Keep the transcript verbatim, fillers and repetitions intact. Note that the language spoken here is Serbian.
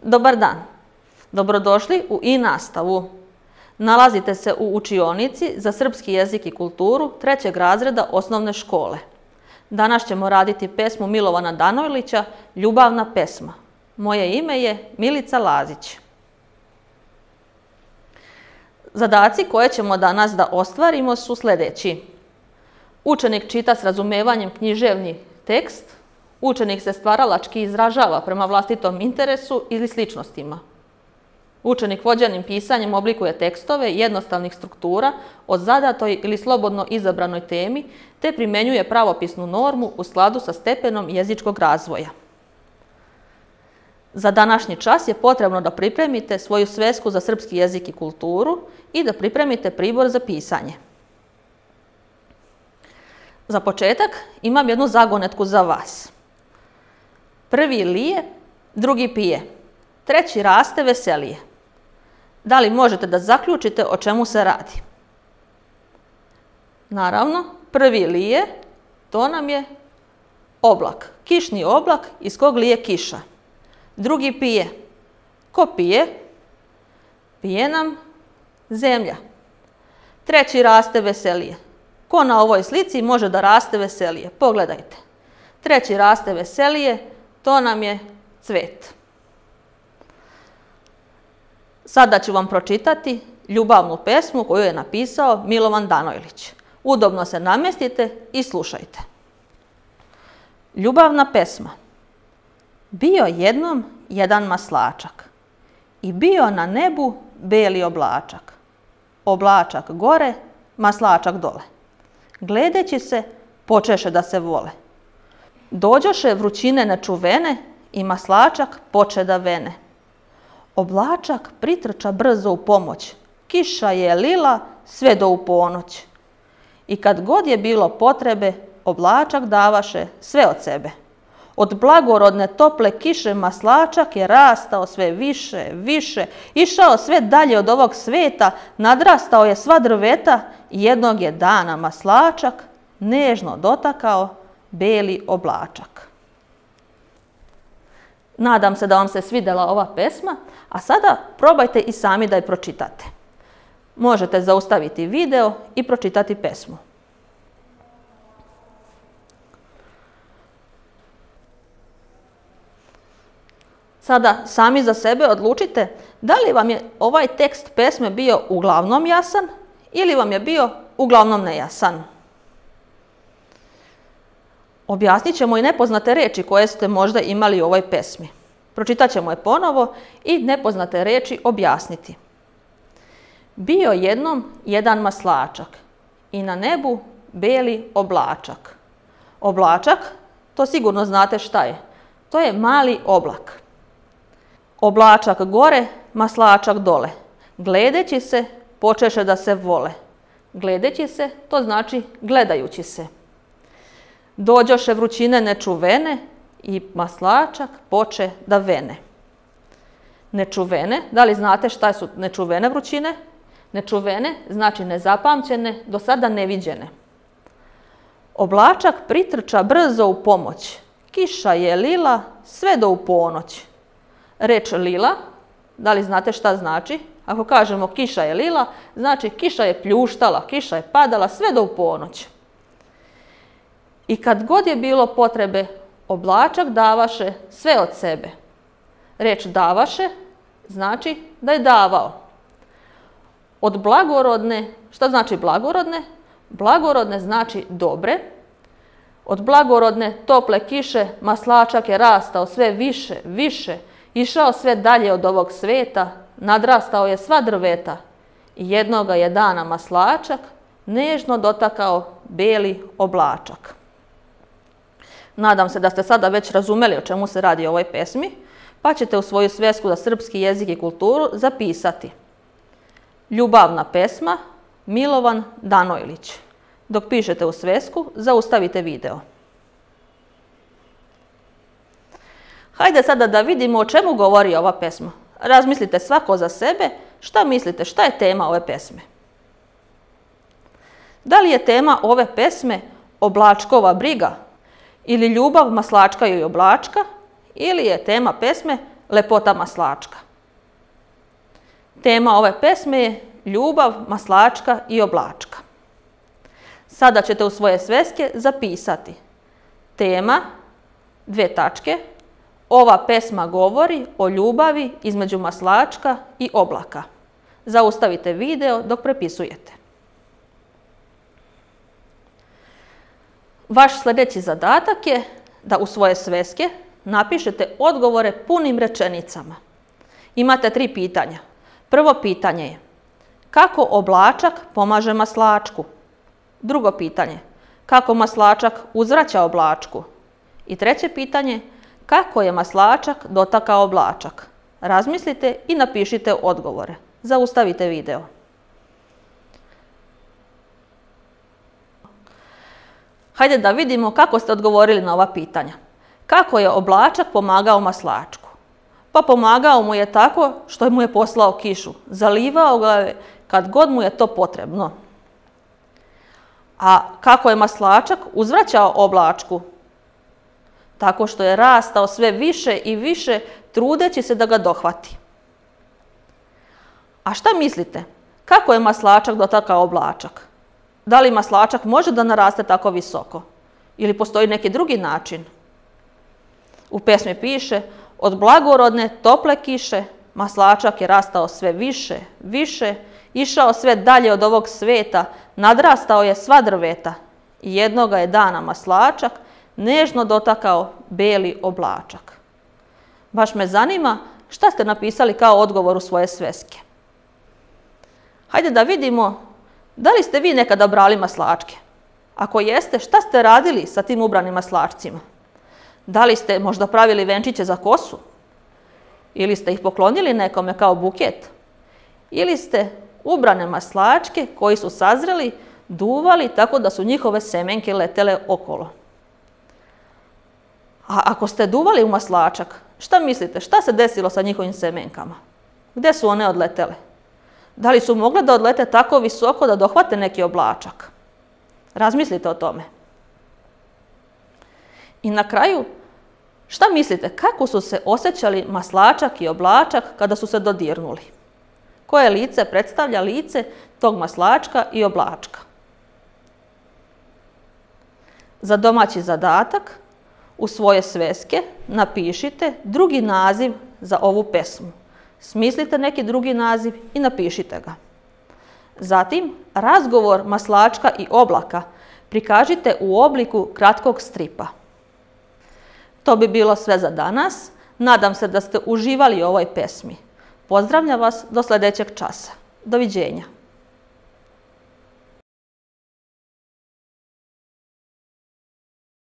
Dobar dan. Dobrodošli u i-nastavu. Nalazite se u učionici za srpski jezik i kulturu trećeg razreda osnovne škole. Danas ćemo raditi pesmu Milovana Danojlića Ljubavna pesma. Moje ime je Milica Lazić. Zadaci koje ćemo danas da ostvarimo su sljedeći. Učenik čita s razumevanjem književni tekst. Učenik se stvaralački izražava prema vlastitom interesu ili sličnostima. Učenik vođenim pisanjem oblikuje tekstove jednostavnih struktura o zadatoj ili slobodno izabranoj temi, te primjenjuje pravopisnu normu u skladu sa stepenom jezičkog razvoja. Za današnji čas je potrebno da pripremite svoju svesku za srpski jezik i kulturu i da pripremite pribor za pisanje. Za početak imam jednu zagonetku za vas. Prvi lije, drugi pije, treći raste veselije. Da li možete da zaključite o čemu se radi? Naravno, prvi lije, to nam je oblak, kišni oblak iz kog lije kiša. Drugi pije. Ko pije? Pije nam zemlja. Treći raste veselije. Ko na ovoj slici može da raste veselije? Pogledajte. Treći raste veselije, to nam je cvet. Sada ću vam pročitati ljubavnu pesmu koju je napisao Milovan Danojlić. Udobno se namestite i slušajte. Ljubavna pesma. Bio jednom jedan maslačak i bio na nebu beli oblačak. Oblačak gore, maslačak dole. Gledeći se, počeše da se vole. Dođoše vrućine nečuvene i maslačak poče da vene. Oblačak pritrča brzo u pomoć, kiša je lila sve do u ponoć. I kad god je bilo potrebe, oblačak davaše sve od sebe. Od blagorodne tople kiše maslačak je rastao sve više, više, išao sve dalje od ovog sveta, nadrastao je sva drveta i jednog je dana maslačak nežno dotakao beli oblačak. Nadam se da vam se svidjela ova pesma, a sada probajte i sami da je pročitate. Možete zaustaviti video i pročitati pesmu. Sada sami za sebe odlučite da li vam je ovaj tekst pesme bio uglavnom jasan ili vam je bio uglavnom nejasan. Objasnit ćemo i nepoznate riječi koje ste možda imali u ovoj pesmi. Pročitat ćemo je ponovo i nepoznate riječi objasniti. Bio jednom jedan maslačak i na nebu beli oblačak. Oblačak, to sigurno znate šta je. To je mali oblak. Oblačak gore, maslačak dole. Gledeći se, počeše da se vole. Gledeći se, to znači gledajući se. Dođoše vrućine nečuvene i maslačak poče da vene. Nečuvene, da li znate šta su nečuvene vrućine? Nečuvene znači nezapamćene, do sada neviđene. Oblačak pritrča brzo u pomoć, kiša je lila sve do u ponoć. Reč lila, da li znate šta znači? Ako kažemo kiša je lila, znači kiša je pljuštala, kiša je padala sve do u ponoć. I kad god je bilo potrebe, oblačak davaše sve od sebe. Reč davaše znači da je davao. Od blagorodne, šta znači blagorodne? Blagorodne znači dobre. Od blagorodne tople kiše maslačak je rastao sve više, više, išao sve dalje od ovog sveta, nadrastao je sva drveta i jednoga je dana maslačak nežno dotakao beli oblačak. Nadam se da ste sada već razumeli o čemu se radi u ovoj pesmi, pa ćete u svoju svesku za srpski jezik i kulturu zapisati Ljubavna pesma Milovan Danojlić. Dok pišete u svesku, zaustavite video. Hajde sada da vidimo o čemu govori ova pesma. Razmislite svako za sebe, šta mislite, šta je tema ove pesme. Da li je tema ove pesme oblačkova briga ili ljubav maslačka i oblačka, ili je tema pesme lepota maslačka. Tema ove pesme je ljubav, maslačka i oblačka. Sada ćete u svoje sveske zapisati tema, dvije tačke, ova pesma govori o ljubavi između maslačka i oblaka. Zaustavite video dok prepisujete. Vaš sljedeći zadatak je da u svoje sveske napišete odgovore punim rečenicama. Imate tri pitanja. Prvo pitanje je kako oblačak pomaže maslačku? Drugo pitanje, kako maslačak uzvraća oblačku? I treće pitanje, kako je maslačak dotakao oblačak? Razmislite i napišite odgovore. Zaustavite video. Hajde da vidimo kako ste odgovorili na ova pitanja. Kako je oblačak pomagao maslačku? Pa pomagao mu je tako što mu je poslao kišu. Zalivao ga je kad god mu je to potrebno. A kako je maslačak uzvraćao oblačku? Tako što je rastao sve više i više, trudeći se da ga dohvati. A šta mislite? Kako je maslačak dotakao oblačak? Da li maslačak može da naraste tako visoko? Ili postoji neki drugi način? U pesmi piše, od blagorodne, tople kiše, maslačak je rastao sve više, više, išao sve dalje od ovog sveta, nadrastao je sva drveta. I jednoga je dana maslačak nežno dotakao beli oblačak. Baš me zanima šta ste napisali kao odgovor u svoje sveske. Hajde da vidimo, da li ste vi nekada brali maslačke? Ako jeste, šta ste radili sa tim ubranim maslačcima? Da li ste možda pravili venčiće za kosu? Ili ste ih poklonili nekome kao buket? Ili ste ubrane maslačke koji su sazreli, duvali tako da su njihove semenke letele okolo? A ako ste duvali u maslačak, šta mislite, šta se desilo sa njihovim semenkama? Gde su one odletele? Da li su mogle da odlete tako visoko da dohvate neki oblačak? Razmislite o tome. I na kraju, šta mislite, kako su se osjećali maslačak i oblačak kada su se dodirnuli? Koje lice predstavlja lice tog maslačka i oblačka? Za domaći zadatak u svoje sveske napišite drugi naziv za ovu pesmu. Smislite neki drugi naziv i napišite ga. Zatim, razgovor maslačka i oblaka prikažite u obliku kratkog stripa. To bi bilo sve za danas. Nadam se da ste uživali u ovoj pesmi. Pozdravljam vas do sljedećeg časa. Doviđenja.